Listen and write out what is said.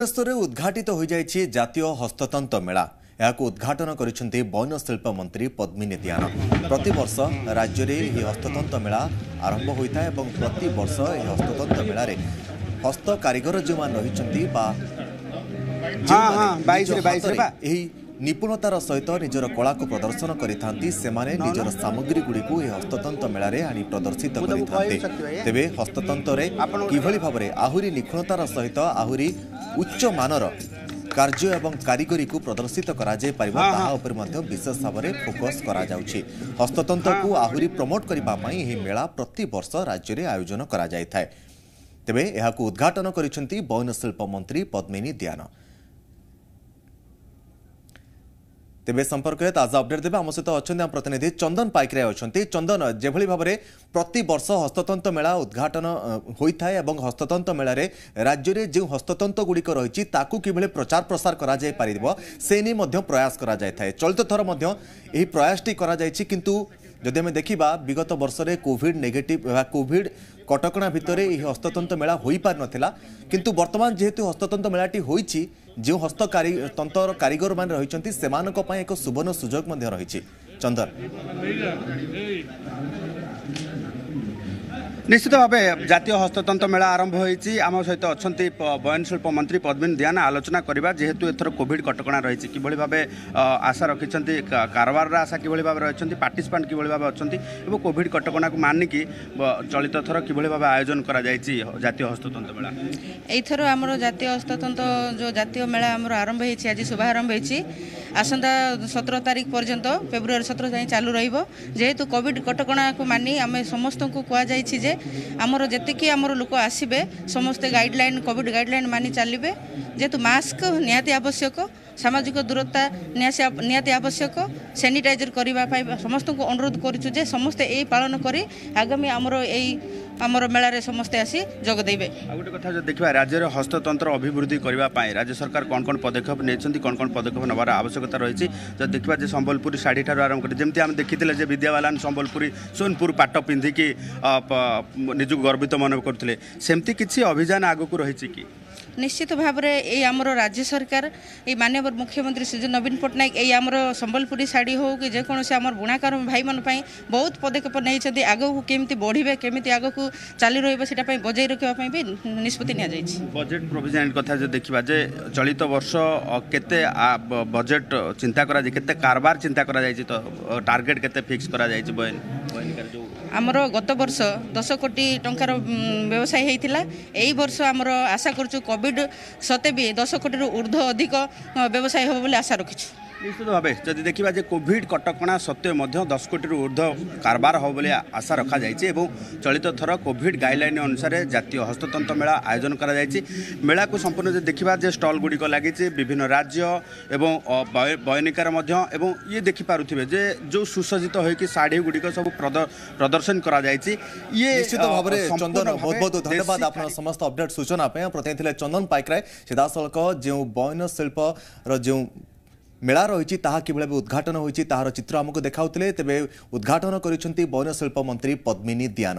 ଭୁବନେଶ୍ୱରରେ ଉଦ୍ଘାଟିତ ହୋଇଯାଇଛି ଜାତୀୟ ହସ୍ତତନ୍ତ ମେଳା। ଏହାକୁ ଉଦ୍ଘାଟନ କରିଛନ୍ତି ବୟନଶିଳ୍ପ ମନ୍ତ୍ରୀ ପଦ୍ମିନୀ ଦିଆନ। ପ୍ରତିବର୍ଷ ରାଜ୍ୟରେ ଏହି ହସ୍ତତନ୍ତ ମେଳା ଆରମ୍ଭ ହୋଇଥାଏ ଏବଂ ପ୍ରତିବର୍ଷ ଏହି ହସ୍ତତନ୍ତ ମେଳାରେ ହସ୍ତ କାରିଗର ଯେଉଁମାନେ ରହିଛନ୍ତି ବା ଏହି ନିପୁଣତାର ସହିତ ନିଜର କଳାକୁ ପ୍ରଦର୍ଶନ କରିଥାନ୍ତି, ସେମାନେ ନିଜର ସାମଗ୍ରୀଗୁଡ଼ିକୁ ଏହି ହସ୍ତତନ୍ତ ମେଳାରେ ଆଣି ପ୍ରଦର୍ଶିତ କରିଥାନ୍ତି। ତେବେ ହସ୍ତତନ୍ତରେ କିଭଳି ଭାବରେ ଆହୁରି ନିଖୁଣତାର ସହିତ ଆହୁରି ଉଚ୍ଚ ମାନର କାର୍ଯ୍ୟ ଏବଂ କାରିଗରୀକୁ ପ୍ରଦର୍ଶିତ କରାଯାଇପାରିବ, ତାହା ଉପରେ ମଧ୍ୟ ବିଶେଷ ଭାବରେ ଫୋକସ୍ କରାଯାଉଛି। ହସ୍ତତନ୍ତକୁ ଆହୁରି ପ୍ରମୋଟ କରିବା ପାଇଁ ଏହି ମେଳା ପ୍ରତିବର୍ଷ ରାଜ୍ୟରେ ଆୟୋଜନ କରାଯାଇଥାଏ। ତେବେ ଏହାକୁ ଉଦ୍ଘାଟନ କରିଛନ୍ତି ବୟନଶିଳ୍ପ ମନ୍ତ୍ରୀ ପଦ୍ମିନୀ ଦିଆନ। ତେବେ ସମ୍ପର୍କରେ ତାଜା ଅପଡେଟ୍ ଦେବେ, ଆମ ସହିତ ଅଛନ୍ତି ଆମ ପ୍ରତିନିଧି ଚନ୍ଦନ ପାଇକରାୟ ଅଛନ୍ତି। ଚନ୍ଦନ, ଯେଭଳି ଭାବରେ ପ୍ରତିବର୍ଷ ହସ୍ତତନ୍ତ ମେଳା ଉଦ୍ଘାଟନ ହୋଇଥାଏ ଏବଂ ହସ୍ତତନ୍ତ ମେଳାରେ ରାଜ୍ୟରେ ଯେଉଁ ହସ୍ତତନ୍ତ ଗୁଡ଼ିକ ରହିଛି ତାକୁ କିଭଳି ପ୍ରଚାର ପ୍ରସାର କରାଯାଇପାରିବ ସେ ନେଇ ମଧ୍ୟ ପ୍ରୟାସ କରାଯାଇଥାଏ। ଚଳିତ ଥର ମଧ୍ୟ ଏହି ପ୍ରୟାସଟି କରାଯାଇଛି, କିନ୍ତୁ ଯଦି ଆମେ ଦେଖିବା ବିଗତ ବର୍ଷରେ କୋଭିଡ ନେଗେଟିଭ ବା କୋଭିଡ କଟକଣା ଭିତରେ ଏହି ହସ୍ତତନ୍ତ ମେଳା ହୋଇପାରିନଥିଲା। କିନ୍ତୁ ବର୍ତ୍ତମାନ ଯେହେତୁ ହସ୍ତତନ୍ତ ମେଳାଟି ହୋଇଛି, ଯେଉଁ ହସ୍ତ ତନ୍ତର କାରିଗରମାନେ ରହିଛନ୍ତି ସେମାନଙ୍କ ପାଇଁ ଏକ ସୁବର୍ଣ୍ଣ ସୁଯୋଗ ମଧ୍ୟ ରହିଛି। ଚନ୍ଦନ। ନିଶ୍ଚିତ ଭାବେ ଜାତୀୟ ହସ୍ତତନ୍ତ ମେଳା ଆରମ୍ଭ ହୋଇଛି। ଆମ ସହିତ ଅଛନ୍ତି ବୟନଶିଳ୍ପ ମନ୍ତ୍ରୀ ପଦ୍ମିନୀ ଦିଆନ। ଆଲୋଚନା କରିବା, ଯେହେତୁ ଏଥର କୋଭିଡ କଟକଣା ରହିଛି, କିଭଳି ଭାବେ ଆଶା ରଖିଛନ୍ତି, କାରବାରର ଆଶା କିଭଳି ଭାବେ ରହିଛନ୍ତି, ପାର୍ଟିସିପାଣ୍ଟ କିଭଳି ଭାବେ ଅଛନ୍ତି ଏବଂ କୋଭିଡ କଟକଣାକୁ ମାନିକି ଚଳିତ ଥର କିଭଳି ଭାବେ ଆୟୋଜନ କରାଯାଇଛି ଜାତୀୟ ହସ୍ତତନ୍ତ ମେଳା? ଏଇଥର ଆମର ଜାତୀୟ ହସ୍ତତନ୍ତ ଯେଉଁ ଜାତୀୟ ମେଳା ଆମର ଆରମ୍ଭ ହେଇଛି, ଆଜି ଶୁଭାରମ୍ଭ ହେଇଛି, ଆସନ୍ତା 17 ତାରିଖ ପର୍ଯ୍ୟନ୍ତ ଫେବୃଆରୀ 17 ଯାଏଁ ଚାଲୁ ରହିବ। ଯେହେତୁ କୋଭିଡ କଟକଣାକୁ ମାନି ଆମେ ସମସ୍ତଙ୍କୁ କୁହାଯାଇଛି ଯେ ଆମର ଯେତିକି ଆମର ଲୋକ ଆସିବେ ସମସ୍ତେ ଗାଇଡ଼ଲାଇନ୍, କୋଭିଡ ଗାଇଡ଼ଲାଇନ୍ ମାନି ଚାଲିବେ। ଯେହେତୁ ମାସ୍କ ନିହାତି ଆବଶ୍ୟକ, ସାମାଜିକ ଦୂରତା ନିହାତି ଆବଶ୍ୟକ, ସାନିଟାଇଜର କରିବା ପାଇଁ ସମସ୍ତଙ୍କୁ ଅନୁରୋଧ କରୁଛୁ ଯେ ସମସ୍ତେ ଏଇ ପାଳନ କରି ଆଗାମୀ ଆମର ଏଇ ଆମର ମେଳାରେ ସମସ୍ତେ ଆସି ଯୋଗ ଦେବେ। ଆଉ ଗୋଟେ କଥା ଯଦି ଦେଖିବା, ରାଜ୍ୟରେ ହସ୍ତତନ୍ତ୍ର ଅଭିବୃଦ୍ଧି କରିବା ପାଇଁ ରାଜ୍ୟ ସରକାର କ'ଣ କ'ଣ ପଦକ୍ଷେପ ନେଇଛନ୍ତି, କ'ଣ କ'ଣ ପଦକ୍ଷେପ ନେବାର ଆବଶ୍ୟକତା ରହିଛି? ଯଦି ଦେଖିବା ଯେ ସମ୍ବଲପୁରୀ ଶାଢ଼ୀ ଠାରୁ ଆରମ୍ଭ କରି, ଯେମିତି ଆମେ ଦେଖିଥିଲେ ଯେ ବିଦ୍ୟା ବାଲାନ ସମ୍ବଲପୁରୀ ସୋନପୁର ପାଟ ପିନ୍ଧିକି ନିଜକୁ ଗର୍ବିତ ମନେ କରୁଥିଲେ, ସେମିତି କିଛି ଅଭିଯାନ ଆଗକୁ ରହିଛି କି? ନିଶ୍ଚିତ ଭାବରେ ଏଇ ଆମର ରାଜ୍ୟ ସରକାର, ଏଇ ମାନ୍ୟବର ମୁଖ୍ୟମନ୍ତ୍ରୀ ଶ୍ରୀ ନବୀନ ପଟ୍ଟନାୟକ ଏଇ ଆମର ସମ୍ବଲପୁରୀ ଶାଢ଼ୀ ହେଉ କି ଯେକୌଣସି ଆମର ବୁଣାକାର ଭାଇମାନଙ୍କ ପାଇଁ ବହୁତ ପଦକ୍ଷେପ ନେଇଛନ୍ତି। ଆଗକୁ କେମିତି ବଢ଼ିବେ, କେମିତି ଆଗକୁ ଚାଲି ରହିବ, ସେଇଟା ପାଇଁ ବଜାଇ ରଖିବା ପାଇଁ ବି ନିଷ୍ପତ୍ତି ନିଆଯାଇଛି। ବଜେଟ୍ ପ୍ରୋଭିଜନ କଥା ଯଦି ଦେଖିବା ଯେ ଚଳିତ ବର୍ଷ କେତେ ବଜେଟ୍ ଚିନ୍ତା କରାଯାଇଛି, କେତେ କାରବାର ଚିନ୍ତା କରାଯାଇଛି, ତ ଟାର୍ଗେଟ୍ କେତେ ଫିକ୍ସ କରାଯାଇଛି ବୟନ? ଆମର ଗତ ବର୍ଷ 10 କୋଟି ଟଙ୍କାର ବ୍ୟବସାୟ ହେଇଥିଲା। ଏଇ ବର୍ଷ ଆମର ଆଶା କରୁଛୁ କୋଭିଡ଼ ସତେ ବି 10 କୋଟିରୁ ଉର୍ଦ୍ଧ୍ୱ ଅଧିକ ବ୍ୟବସାୟ ହେବ ବୋଲି ଆଶା ରଖିଛୁ। ନିଶ୍ଚିତ ଭାବେ ଯଦି ଦେଖିବା ଯେ କୋଭିଡ କଟକଣା ସତ୍ତ୍ୱେ ମଧ୍ୟ 10 କୋଟିରୁ ଉର୍ଦ୍ଧ୍ୱ କାରବାର ହେବ ବୋଲି ଆଶା ରଖାଯାଇଛି ଏବଂ ଚଳିତ ଥର କୋଭିଡ ଗାଇଡ଼ଲାଇନ୍ ଅନୁସାରେ ଜାତୀୟ ହସ୍ତତନ୍ତ ମେଳା ଆୟୋଜନ କରାଯାଇଛି। ମେଳାକୁ ସମ୍ପୂର୍ଣ୍ଣ ଯଦି ଦେଖିବା ଯେ ଷ୍ଟଲ୍ ଗୁଡ଼ିକ ଲାଗିଛି ବିଭିନ୍ନ ରାଜ୍ୟ ଏବଂ ବୟନିକାର ମଧ୍ୟ, ଏବଂ ଇଏ ଦେଖିପାରୁଥିବେ ଯେ ଯେଉଁ ସୁସଜ୍ଜିତ ହୋଇକି ଶାଢ଼ୀ ଗୁଡ଼ିକ ସବୁ ପ୍ରଦର୍ଶନ କରାଯାଇଛି। ଇଏ ନିଶ୍ଚିତ ଭାବରେ ଚନ୍ଦନ, ବହୁତ ବହୁତ ଧନ୍ୟବାଦ ଆପଣ ସମସ୍ତ ଅପଡେଟ୍ ସୂଚନା ପାଇଁ। ପ୍ରତିନିଧି ଥିଲେ ଚନ୍ଦନ ପାଇକରାୟ। ସିଧାସଳଖ ଯେଉଁ ବୟନ ଶିଳ୍ପର ଯେଉଁ ମେଳା ରହିଛି ତାହା କିଭଳି ଭାବେ ଉଦ୍ଘାଟନ ହୋଇଛି ତାହାର ଚିତ୍ର ଆମକୁ ଦେଖାଉଥିଲେ। ତେବେ ଉଦ୍ଘାଟନ କରିଛନ୍ତି ବୟନଶିଳ୍ପ ମନ୍ତ୍ରୀ ପଦ୍ମିନୀ ଦିଆନ।